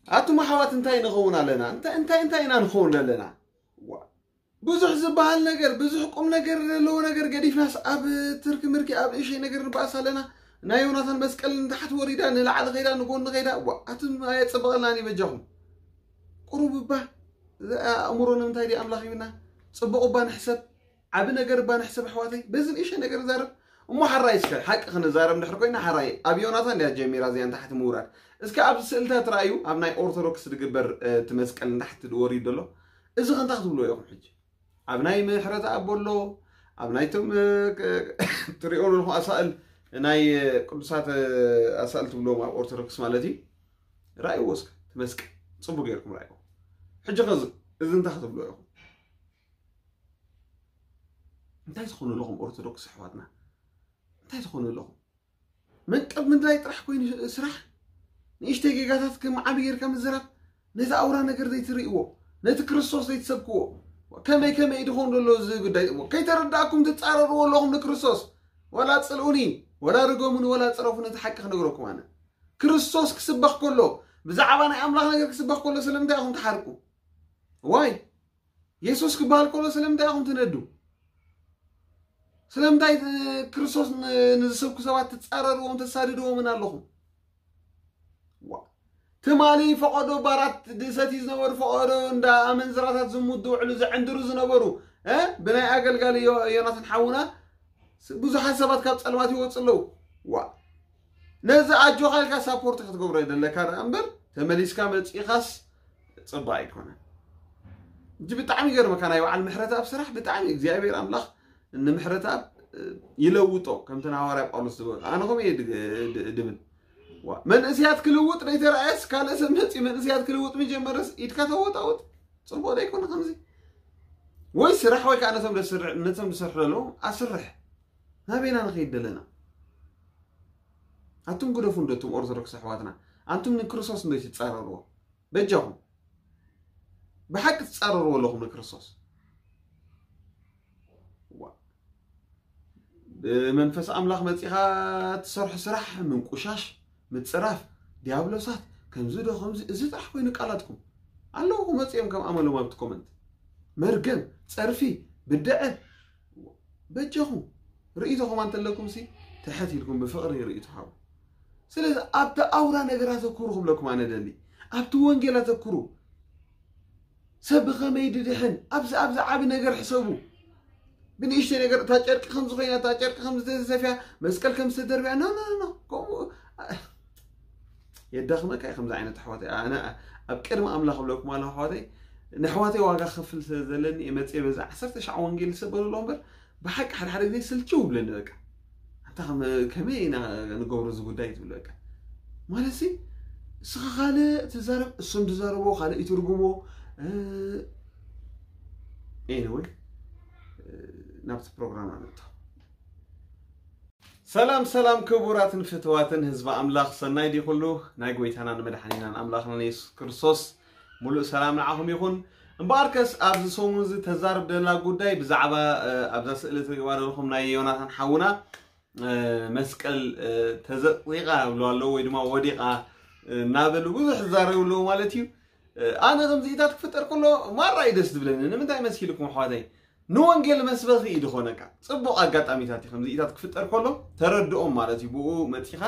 ኣቱም ኣሕዋት እንታይ ንኸውን ኣለና? እንታይ እንታይ እንታይ ኢና ንኸውን ኣለና? ዋ፣ ብዙሕ ዝበሃል ነገር፣ ብዙሕ ቁም ነገር ዘለዎ ነገር ገዲፍናስ ኣብ ትርኪ ምርኪ ኣብ እሸይ ነገር ንበኣስ ኣለና። ናይ ዮናታን መስቀል ንታሕቲ ወሪዳ ንላዕሊ ኸይዳ ንጎኒ ኸይዳ፣ ዋ፣ ኣቱም ኣየጸበቐልናን እዩ በጃኹም። ቁሩብ እባ ኣእምሮ ንምንታይ ድዩ ኣምላኽ ሂብና? ጽቡቕ እባ ንሕሰብ፣ ዓቢ ነገር እባ ንሕሰብ ኣሕዋተይ። በዚ ንእሸ ነገር ንዛረብ እሞ ሓራይ እስከ ሓቂ ክንዛረብ እንድሕር ኮይና ሓራይ ኣብ ዮናታን ድያ ጀሚራ እዚኣ ንታሕቲ ምውራድ። እስከ ኣብዚ ስእልታት ርኣዩ፣ ኣብ ናይ ኦርቶዶክስ ዝግበር እቲ መስቀል ንታሕቲ ወሪዱ ዘሎ እዚ ከንታ ክትብልዎ ኢኹም ሕጂ። ኣብ ናይ ምሕረት ኣቦ ኣሎ፣ ኣብ ናይቶም ትሪኦ ኣለኹም ኣሳእል ናይ ቅዱሳት ኣሳእል ትብልዎም ኣብ ኦርቶዶክስ ማለት እዩ። ርኣይዎ እስከ እቲ መስቀል ጽቡቅ ጌርኩም ርኣይዎ። ሕጂ ከዚ እዚ እንታይ ክትብልዎ ኢኹም? እንታይ ትኾኑ ኣለኹም ኦርቶዶክስ ኣሕዋትና? እንታይ ትኾኑ ኣለኹም? መንቀብ ምድላይ ጥራሕ ኮይኑ ስራሕ። ንእሽተይ ጌጋታት ከም ዓቢ ጌርካ ምዝራብ፣ ነቲ ኣውራ ነገር ዘይትርእይዎ፣ ነቲ ክርስቶስ ዘይትሰብክዎ፣ ከመይ ከመይ ድኾን ዘሎ እዚ ጉዳይ እሞ ከይተረዳእኩም ትጻረርዎ ኣለኹም ንክርስቶስ። ወላ ጽልኡኒ ወላ ርገሙኒ ወላ ጽረፉ፣ ነቲ ሓቂ ክነግረኩም ኣነ። ክርስቶስ ክስበኽ ከሎ፣ ብዛዕባ ናይ ኣምላኽ ነገር ክስበኽ ከሎ ስለምንታይ ኢኹም ትሓርቁ? ዋይ? የሱስ ክበሃል ከሎ ስለምንታይ ኢኹም ትነዱ? ስለምንታይ ክርስቶስ ንዝሰብኩ ሰባት ትጻረርዎም ተሳድድዎምን ኣለኹም? ትማሊ ፈቐዶ ባራት ድሰቲ ዝነበሩ፣ ፈቐዶ እንዳ ኣመንዝራታት ዝሙት ዝውዕሉ ዘዕንድሩ ዝነበሩ ብናይ ኣገልጋሊ ዮናትን ሓውና ብዙሓት ሰባት ካብ ጸልማት ይወፁ ኣለዉ። ዋ፣ ነዚ ኣጆኻ ኢልካ ሳፖርት ክትገብሮ የደለካ ደኣ እምበር ተመሊስካ መፂኻስ ፅቡቅ ኣይኮነን። እጂ ብጣዕሚ ይገርመካ፣ ናይ በዓል ምሕረተኣብ ስራሕ ብጣዕሚ እግዚኣብሔር ኣምላኽ ንምሕረተኣብ ይለውጦ። ከምቲ ንሃዋርያ ጳውሎስ ዝበሎ ኣነ ከምኡ እየ ድብል። መንእስያት ክልውጥ ደይተረኣየስ ካልእ ሰብ መፂ መንእስያት ክልውጥ ምጀመረስ ኢድካ ተወጣውጥ። ፅቡቅ ደይኮነ ከምዚ ወይ ስራሕ ወይ ከዓ ነቶም ዝሰርሑ ዘለዉ ኣስርሕ። ናበይና ንኸይድ ደለና? ኣቱም ግደፉ እንዶ እቱም ኦርቶዶክስ ኣሕዋትና፣ ኣንቱም ንክርስቶስ እንዶ ትጻረርዎ? በጃኹም ብሓቂ ትጻረርዎ ኣለኹም ንክርስቶስ። ብመንፈስ ኣምላኽ መጺኻ ትሰርሑ ስራሕ ምንቁሻሽ፣ ምጽራፍ፣ ዲያብሎሳት ከምዚ ዶ ከምዚ፣ እዚ ጥራሕ ኮይኑ ቃላትኩም ኣለዉ። ክመጽኦም ከም ኣመሎም ኣብቲ ኮመንት መርገም፣ ጸርፊ፣ ብድዐ። በጃኹም ርእይቶኹም ኣንተለኩም ሲ ትሕት ኢልኩም ብፍቕሪ ርእይቶ ሃቡ። ስለዚ ኣብቲ ኣውራ ነገር ኣተኩሩ ክብለኩም ኣነ ደሊ፣ ኣብቲ ወንጌል ኣተኩሩ። ሰብ ብኸመይ ድድሕን ኣብዚ ኣብዚ ዓቢ ነገር ሕሰቡ። ብንእሽተይ ነገር እታ ጨርቂ ከም ዝኾይና እታ ጨርቂ ከም ዝተሰፍያ መስቀል ከም ዝተደርብያ ኖ ኖ ኖ ከምኡ የዳኽመካ እዩ። ከምዚ ዓይነት ኣሕዋተይ ኣነ ኣብ ቅድሚ ኣምላኽ ብለኩም ኣለኹ ኣሕዋተይ፣ ንኣሕዋተይ ዋጋ ክኸፍል ስለ ዘለኒ እየ መፅየ። በዚ ዓሰርተ ሻዕ ወንጌል ዝሰበሉ ኣለዉ እምበር ብሓቂ ሓደ ሓደ ግዜ ስልችው ይብለኒ። በቃ ኣንታ ከመይ ኢና ንገብሮ እዚ ጉዳይ ትብል። በቃ ማለት ሲ እስኻ ካልእ ትዛረብ እሶም ትዛረቦ ካልእ ይትርጉሞ። ኤኒወይ ናብቲ ፕሮግራም ኣነታ። ሰላም ሰላም ክቡራትን ፍትዋትን ህዝቢ ኣምላኽ፣ ሰናይ ድዩ ኩሉ? ናይ ጎይታናን መድሓኒናን ኣምላኽናን የሱስ ክርስቶስ ሙሉእ ሰላም ንዓኹም ይኹን። እምበኣርከስ ኣብዚ ሰሙን እዚ ተዛርብ ደላ ጉዳይ ብዛዕባ ኣብዛ ስእሊ ትሪእዋ ዘለኹም ናይ ዮናታን ሓውና መስቀል ተዘቕዚቓ ይብሉ ኣለዉ ወይ ድማ ወዲቓ እናበሉ ብዙሕ ዝዛረቡ ኣለዉ ማለት እዩ። ኣነ ከምዚኢታት ክፍጠር ከሎ ማራ እዩ ደስ ዝብለኒ። ንምንታይ መሲልኩም ኣሕዋተይ? ንወንጌል መስበኺ እዩ ዝኾነካ። ጽቡቕ ኣጋጣሚታት እዩ ከምዚኢታት ክፍጠር ከሎ ተረድኦም ማለት እዩ። ብኡ መጺኻ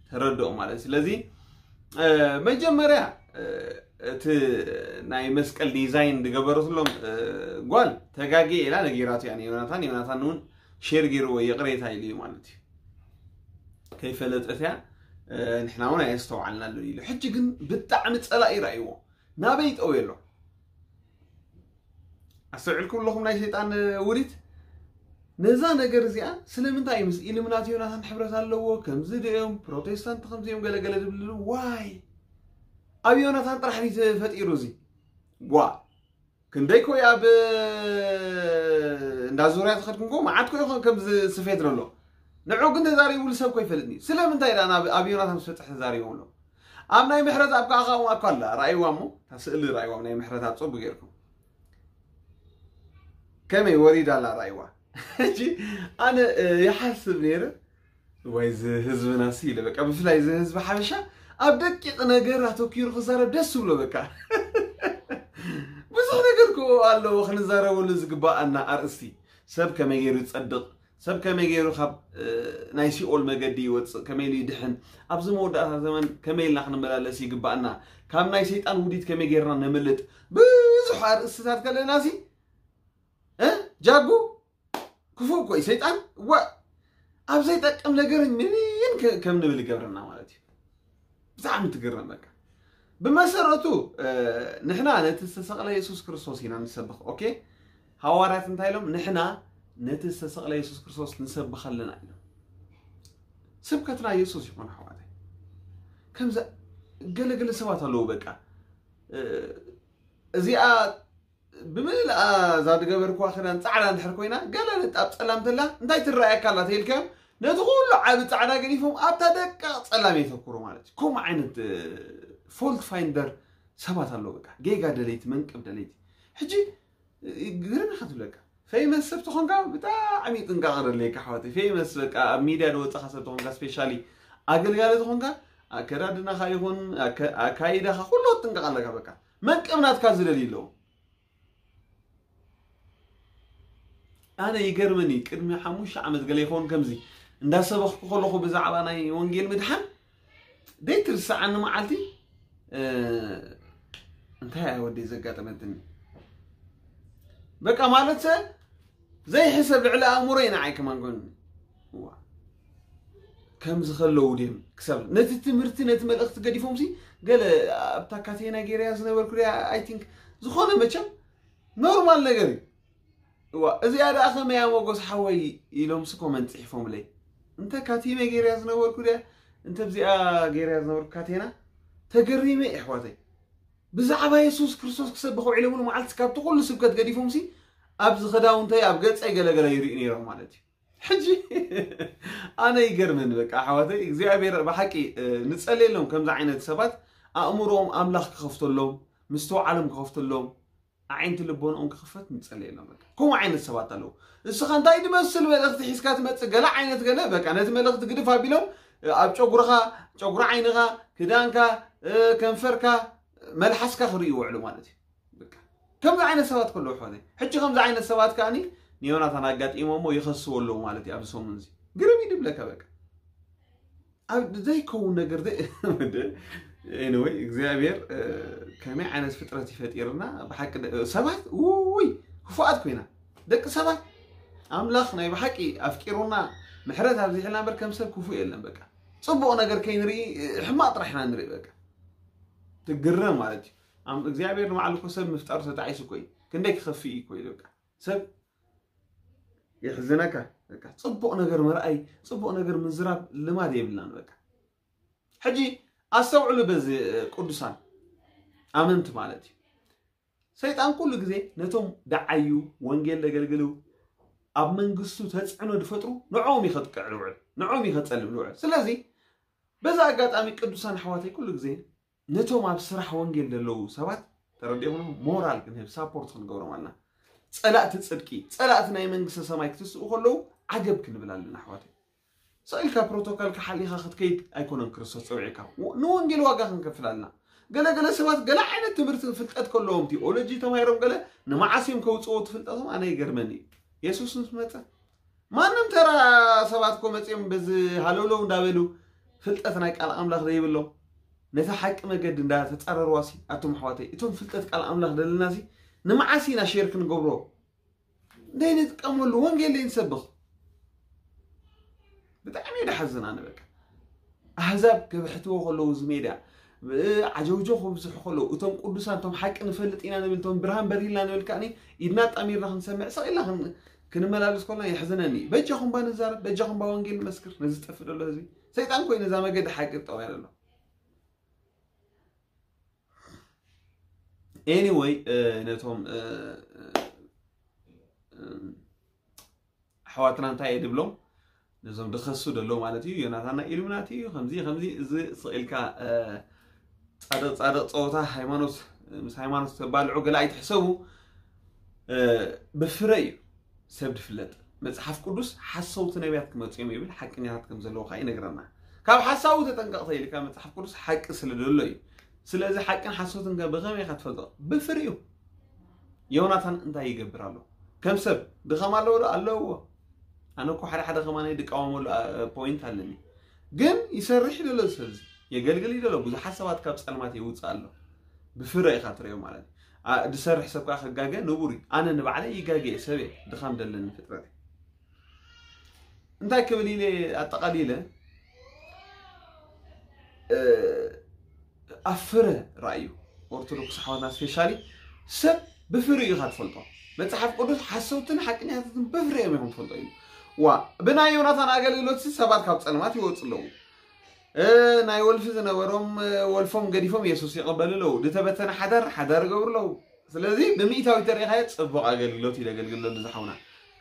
ተረድኦም ማለት እዩ። ስለዚ መጀመርያ እቲ ናይ መስቀል ዲዛይን ዝገበረትሎም ጓል ተጋግየ ኢላ ነጊራቱ እያ ንዮናታን። ዮናታን እውን ሼር ገይርዎ ይቕሬታ ኢሉ እዩ ማለት እዩ። ከይፈለጠት እያ፣ ንሕና እውን ኣየስተውዓልናሉን ኢሉ። ሕጂ ግን ብጣዕሚ ጸላኢ ራእይዎ ናበይ ጠውየ ኣሎ? ኣስተውዒልኩም ኣለኹም ናይ ሰይጣን ውዲት? ነዛ ነገር እዚኣ ስለምንታይ ምስ ኢሉሚናቲ ዮናታን ሕብረት ኣለዎ? ከምዚ ድዮም ፕሮቴስታንት ከምዚኦም ገለገለ ዝብልሉ ዋይ ኣብ ዮናታን ጥራሕ ድዩ ተፈጢሩ እዚ? ጓ ክንደይ ኮይ ኣብ እንዳ ዙርያ ተኸድኩም ኮ መዓት ኮ ይኾን ከምዚ ስፌት ዘሎ። ንዑ ግን ተዛሪቡሉ ሰብ ኮ ይፈልጥኒ። ስለምንታይ ደኣ ናብ ኣብ ዮናታን ዝፈጥሕ ተዛሪቦም ኣሎ? ኣብ ናይ ምሕረት ኣብ ከዓ ከዓ እኮ ኣላ ራእይዋ እሞ እታ ስእሊ ራእይዋ ናይ ምሕረት ኣብ ጸጉ ጌርኩም ከመይ ወሪዳ ኣላ ራእይዋ። ሕጂ ኣነ ይሓስብ ነይረ ወይ እዚ ህዝብና ሲ ኢለ በቃ ብፍላይ እዚ ህዝቢ ሓበሻ ኣብ ደቂቕ ነገር ኣተኪሩ ክዛረብ ደስ ዝብሎ በቃ። ብዙሕ ነገር ክኡ ኣለዎ ክንዛረበሉ ዝግባኣና ኣርእስቲ። ሰብ ከመይ ገይሩ ይጸድቕ፣ ሰብ ከመይ ገይሩ ካብ ናይ ሲኦል መገዲ ይወፅእ፣ ከመይ ኢሉ ይድሕን፣ ኣብዚ መወዳእታ ዘመን ከመይ ኢልና ክንመላለስ ይግባኣና፣ ካብ ናይ ሰይጣን ውዲት ከመይ ገይርና ነምልጥ፣ ብዙሕ ኣርእስትታት ከለና ሲ እ ጃጉ ክፉእ እኮ እዩ ሰይጣን። ዋ ኣብ ዘይጠቅም ነገር ምንን ከም ንብል ይገብረና ማለት እዩ። ብጣዕሚ ትግረም በቃ። ብመሰረቱ ንሕና ነቲ ዝተሰቕለ የሱስ ክርስቶስ ኢና ንሰብኽ። ኦኬ፣ ሃዋርያት እንታይ ኢሎም? ንሕና ነቲ ዝተሰቕለ የሱስ ክርስቶስ ንሰብኽ ኣለና ኢሎም። ስብከትና የሱስ ይኾን ኣሕዋተይ። ከምዚ ገለገለ ሰባት ኣለዉ በቃ እዚኣ ብምልኣ እዛ ዝገበርክዋ ክዳን ፃዕዳ እንድሕር ኮይና ገለ ንጣብ ፀላም ተላ እንታይ ትረኣየካ ኣላ ተይልካዮም ነቲ ኩሉ ዓቢ ፃዕዳ ገዲፎም ኣብታ ደቃቕ ፀላም የተኩሩ ማለት እዩ። ከምኡ ዓይነት ፎልት ፋይንደር ሰባት ኣለዉ። በቃ ጌጋ ደለይቲ መንቅብ ደለይቲ ሕጂ ግርም ኢኻ ትብለካ። ፌመስ ሰብ ተኾንካ ብጣዕሚ ጥንቃቐ ደለየካ ኣሕዋተይ። ፌመስ በቃ ኣብ ሚድያ ዝወፀኻ ሰብ ተኾንካ ስፔሻሊ ኣገልጋሊ ተኾንካ ኣከዳድናኻ ይኹን ኣካይዳኻ ኩሉ ጥንቃቕ ኣለካ። በቃ መንቅብ ናትካ ዝደልዩ ኣለዉ። ኣነ ይገርመኒ ቅድሚ ሓሙሽተ ዓመት ገለ ይኸውን ከምዚ እንዳሰበኽኩ ከለኹ ብዛዕባ ናይ ወንጌል ምድሓን ደይትርሰዓኒ መዓልቲ እንታይ ኣይ ወደይ ዘጋጠመትኒ በቃ ማለት ዘይሕሰብ ልዕሊ ኣእምሮ ኢና ኣይከማን ኮን ከምዚ ከለዉ ድም ክሳብ ነቲ ትምህርቲ ነቲ መልእኽቲ ገዲፎም ሲ ገለ ኣብታ ካቴና ገይረያ ዝነበርኩ ሪያ ኣይ ቲንክ ዝኾነ መቸም ኖርማል ነገር እዩ። እዋ እዚኣ ደኣ ከመያ ሞጎስ ሓወይ ኢሎም ሲ ኮመንት ጽሒፎምለይ እንተ ካቲመ ገይረያ ዝነበርኩ ሪያ እንተ ብዚኣ ገይረያ ዝነበርኩ ካቴና ተገሪመ የሕዋተይ ብዛዕባ የሱስ ክርስቶስ ክሰብኽ ውዒለ ሙሉ መዓልቲ ካብቲ ኩሉ ስብከት ገዲፎም ሲ ኣብዚ ክዳውንተይ ኣብ ገጸይ ገለገለ ይርእዩ ነይሮም ማለት እዩ። ሕጂ ኣነ ይገርመኒ በቃ ኣሕዋተይ እግዚኣብሔር ብሓቂ ንጸልየሎም ከምዚ ዓይነት ሰባት ኣእምሮኦም ኣምላኽ ክኸፍተሎም ምስትውዓሎም ክኸፍተሎም ኣዒንቲ ልቦንኦም ክኽፈት ንጸልየሎም በቃ ከምኡ ዓይነት ሰባት ኣለዉ። እስኻ እንታይ ድመስል መልእኽቲ ሒዝካ ትመጽእ ገለ ዓይነት ገለ በቃ ነቲ መልእኽቲ ግድፍ ኣቢሎም ኣብ ጨጉርኻ ጨጉሪ ዓይንኻ ክዳንካ ከንፈርካ መልሓስካ ክርእዩ ውዕሉ ማለት እዩ። ከምዚ ዓይነት ሰባት ከለዉ ሖነ ሕጂ ከምዚ ዓይነት ሰባት ከኣኒ ንዮናታን ኣጋጢሞሞ ይኸስዎ ኣለዉ ማለት እዩ። ኣብዚ ሰሙን እዚ ግርም እዩ ድብለካ በቃ ኣብ ዘይከውን ነገር ኤኒወይ እግዚኣብሔር ከመይ ዓይነት ፍጥረት ይፈጢርና ብሓቂ ሰባት ውይ ክፉኣት ኮይና ደቂ ሰባት ኣምላኽ ናይ ብሓቂ ኣፍቂሩና ምሕረት ኣብዚሕልና በር ከም ሰብ ክፉእ የለን በቃ ጽቡቕ ነገር ከይንርኢ ሕማቕ ጥራሕ ኢና ንርኢ በቃ ትግረም ማለት እዩ። እግዚኣብሔር ንባዕሉ እኮ ሰብ ምፍጣሩ ተጣዒሱ እኮ እዩ። ክንደይ ክኸፍእ እዩ እኮ እዩ በቃ ሰብ የሕዝነካ። በቃ ጽቡቕ ነገር ምርኣይ ጽቡቕ ነገር ምዝራብ ልማድ የብልናን በቃ። ሕጂ ኣስተውዕሉ በዚ ቅዱሳን ኣመንቲ ማለት እዩ። ሰይጣን ኩሉ ግዜ ነቶም ደዓዩ ወንጌል ዘገልግሉ ኣብ መንግስቱ ተጽዕኖ ዝፈጥሩ ንዕኦም እዩ ከጥቅዕ ዝውዕል ንዕኦም እዩ ከጸልም ዝውዕል። ስለዚ በዛ ኣጋጣሚ ቅዱሳን ኣሕዋተይ ኩሉ ግዜ ነቶም ኣብ ስራሕ ወንጌል ዘለዉ ሰባት ተረዲኹም ሞራል ክንህብ ሳፖርት ክንገብሮም ኣለና። ጸላእቲ ጽድቂ ጸላእቲ ናይ መንግስተ ሰማይ ክትስኡ ከለዉ ዓገብ ክንብል ኣለና ኣሕዋተይ። ስቕ ኢልካ ፕሮቶኮል ክሓሊኻ ክትከይድ ኣይኮነን ክርስቶስ ጸውዒካ። ንወንጌል ዋጋ ክንከፍል ኣለና። ገለገለ ሰባት ገለ ዓይነት ትምህርቲ ፍልጠት ከለዎም ቲኦሎጂ ተማሂሮም ገለ ንመዓስ እዮም ከውፅዎ ትፍልጠቶም ኣነ ይገርመኒ እዩ። የሱስ ምስ መፀ ማንም ተራ ሰባት እኮ መፂኦም በዚ ሃለውለው እንዳበሉ ፍልጠት ናይ ቃል ኣምላኽ ዘይብሎም ነቲ ሓቂ መገዲ እንዳተፃረርዋ ሲ ኣቶም ኣሕዋተይ እቶም ፍልጠት ቃል ኣምላኽ ደለና ሲ ንመዓስ ኢና ሼር ክንገብሮ ደይንጥቀመሉ ወንጌል ደይንሰብኽ ብጣዕሚ እዩ ደሓዝን ኣነ በቃ ኣህዛብ ከብሕትዎ ከለዉ እዚ ሜድያ ዓጀውጆ ክብዝሑ ከለዉ እቶም ቅዱሳን እቶም ሓቂ ንፈልጥ ኢና ንብል እቶም ብርሃን በሪህልና ንብል ከዓኒ ኢድና ጣሚርና ክንሰምዕ ስቕ ኢልና ክንመላለስ ከለና የሕዝነኒ እዩ በጃኹም ባ ንዛረብ በጃኹም ባ ወንጌል ንመስክር ነዚ ዝጠፍእ ዘሎ ህዝቢ ሰይጣን ኮይኑ እዛ መገዲ ሓቂ ጠውያ ዘሎ anyway ነቶም ኣሕዋትና እንታይ እየ ድብሎም ነዞም ድኸሱ ደሎ ማለት እዩ ዮናታና ኢሉምናቲ እዩ ከምዚ ከምዚ እዚ ስቕ ኢልካ ፃድቕ ፃድቕ ፀወታ ሃይማኖት ምስ ሃይማኖት ተባልዑ ገለ ኣይትሕሰቡ ብፍረ እዩ ሰብ ድፍለጥ መፅሓፍ ቅዱስ ሓሰውቲ ነቢያት ክመፁ እዮም ይብል ሓቀኛታት ከም ዘለዉ ከዓ ይነግረና ካብ ሓሳዊ ተጠንቀቕ ተይልካ መጽሓፍ ቅዱስ ሓቂ ስለ ዘሎ እዩ። ስለዚ ሓቅን ሓሶትን ከ ብኸመይ ኢኻ ትፈልጦ? ብፍሪኡ። ዮናታን እንታይ ይገብር ኣሎ? ከም ሰብ ድኻም ኣለዎ ዶ? ኣለዎ። ኣነ እኮ ሓደ ሓደ ከማን ድቃወመሉ ፖይንት ኣለኒ። ግን ይሰርሕ ደሎ ሰብዚ የገልግል ደሎ ብዙሓት ሰባት ካብ ጸልማት ይውጽእ ኣሎ። ብፍረ ኢኻ ትሪኦ ማለት እዩ። ድሰርሕ ሰብ ከዓ ክጋገ ንቡር እዩ። ኣነ ንባዕለይ ይጋገ እየ፣ ሰብ እየ፣ ድኻም ደለኒ ፍጥረት እየ። እንታይ ክብል ኢለ ኣጠቓሊለ ኣብ ፍረ ራእዩ ኦርቶዶክስ ኣሕዋትና ስፔሻሊ ሰብ ብፍርኡ ኢኻ ትፈልጦ። መጽሓፍ ቅዱስ ሓሰውትን ሓቀኛታትን ብፍርኦም ኢኹም ትፈልጦ ኢሉ። ዋ ብናይ ዮናታን ኣገልግሎት ሰባት ካብ ጸልማት ይወፁ ኣለዉ። ናይ ወልፊ ዝነበሮም ወልፎም ገዲፎም የሱስ ይቕበሉ ኣለዉ። ዝተበተነ ሓዳር ሓዳር ይገብሩ ኣለዉ። ስለዚ ብምኢታዊ ተሪኻዮ ጽቡቕ ኣገልግሎት እዩ ዘገልግል ዘሎ ዝሓውና።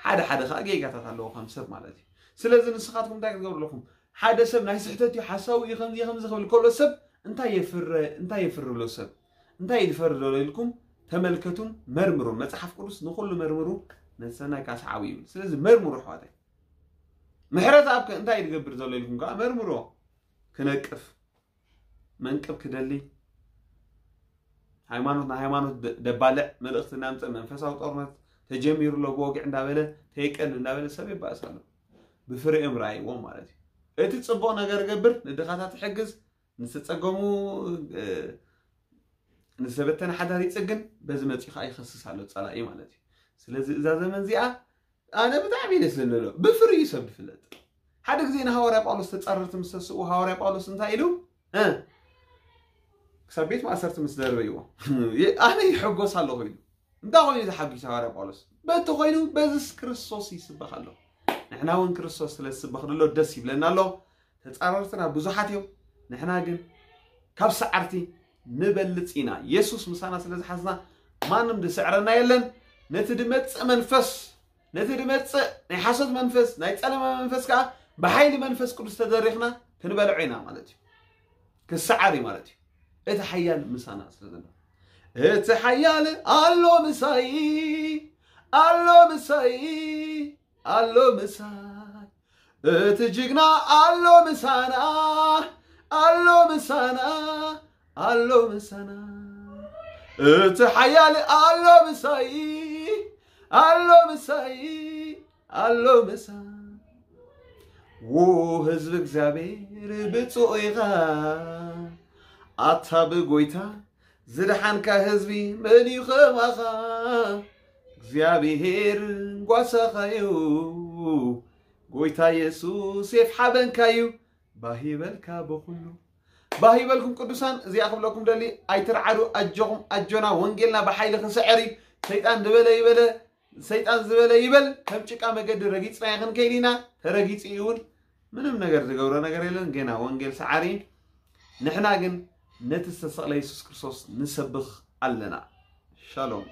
ሓደ ሓደ ከዓ ጌጋታት ኣለዎ ከም ሰብ ማለት እዩ። ስለዚ ንስኻትኩም እንታይ ክትገብሩ ኣለኹም? ሓደ ሰብ ናይ ስሕተት እዩ ሓሳዊ እዩ ከምዚ ከምዚ ክብል ከሎ ሰብ እንታይ የፍረ እንታይ የፍርሎ ሰብ እንታይ ይድፈር ዘሎ ኢልኩም ተመልከቱን መርምሩን። መጽሓፍ ቅዱስ ንኹሉ መርምሩ ነሰናይ ካስዓዊ ይብል። ስለዚ መርምሩ ኣሕዋተይ። ምሕረት ኣብከ እንታይ ይድገብር ዘሎ ኢልኩም ከዓ መርምሮ። ክነቅፍ መንቅብ ክደሊ ሃይማኖት ንሃይማኖት ደባልዕ መልእኽቲ እናምፀ መንፈሳዊ ጦርነት ተጀሚሩ ኣሎ ብወግዕ እንዳበለ ተይቀል እንዳበለ ሰብ ይባእስ ኣሎ። ብፍርኦም ረኣይዎም ማለት እዩ። እቲ ፅቡቕ ነገር ገብር ንድኻታት ይሕግዝ ንዝተፀገሙ ንዝተበተነ ሓዳር ይፅግን በዚ መፂኡ ከዓ ይኸስስ ኣሎ ፀላኢ ማለት እዩ። ስለዚ እዛ ዘመን እዚኣ ኣነ ብጣዕሚ ደስ ዝለሎ ብፍርዩ ሰብ ዝፍለጥ ሓደ ግዜ ንሃዋርያ ጳውሎስ ተፃረርቲ ምስ ተስኡ ሃዋርያ ጳውሎስ እንታይ ኢሉ ክሳብ ቤት ማእሰርቲ ምስ ደርበይዎ ኣነ ይሕጎስ ኣለኹ ኢሉ። እንታይ ኮይኑ ተሓጒስ ሃዋርያ ጳውሎስ? በቲ ኮይኑ በዚስ ክርስቶስ ይስበኽ ኣሎ። ንሕና እውን ክርስቶስ ስለ ዝስበኽ ዘሎ ደስ ይብለና ኣሎ። ተፃረርትና ብዙሓት እዮም። ንሕና ግን ካብ ሰዓርቲ ንበልፅ ኢና። የሱስ ምሳና ስለ ዝሓዝና ማንም ዝስዕረና የለን። ነቲ ድመፅእ መንፈስ ነቲ ድመፅእ ናይ ሓሶት መንፈስ ናይ ፀለማ መንፈስ ከዓ ብሓይሊ መንፈስ ቅዱስ ተደሪኽና ክንበልዖ ኢና ማለት እዩ። ክሰዓር እዩ ማለት እዩ። እቲ ሓያል ምሳና ስለ ዘሎ እቲ ሓያል ኣሎ ምሳይ ኣሎ ምሳይ ኣሎ ምሳይ እቲ ጅግና ኣሎ ምሳና ኣሎ ምሳና ኣሎ ምሳና እቲ ሓያል ኣሎ ምሳይ ኣሎ ምሳይ ኣሎ ምሳይ ዎ ህዝቢ እግዚኣብሔር ብፁዕ ኢኻ ኣታ ብጎይታ ዝደሓንካ ህዝቢ መን እዩ ከማኻ እግዚኣብሔር ጓሳኻ እዩ ጎይታ የሱስ የፍሓበንካ እዩ ባህ ይበልካ ብኩሉ ባህ ይበልኩም ቅዱሳን እዚኣ ክብለኩም ደሊ ኣይትርዓዱ ኣጆኹም ኣጆና ወንጌልና ብሓይሊ ክስዕር እዩ ሰይጣን ዝበለ ይበለ ሰይጣን ዝበለ ይበል ከም ጭቃ መገዲ ረጊፅና ይኽንከይድ ኢና ተረጊፁ እዩ እውን ምንም ነገር ዝገብሮ ነገር የለን ገና ወንጌል ሰዓሪ ንሕና ግን ነቲ ዝተሰቕለ የሱስ ክርስቶስ ንሰብኽ ኣለና ሻሎም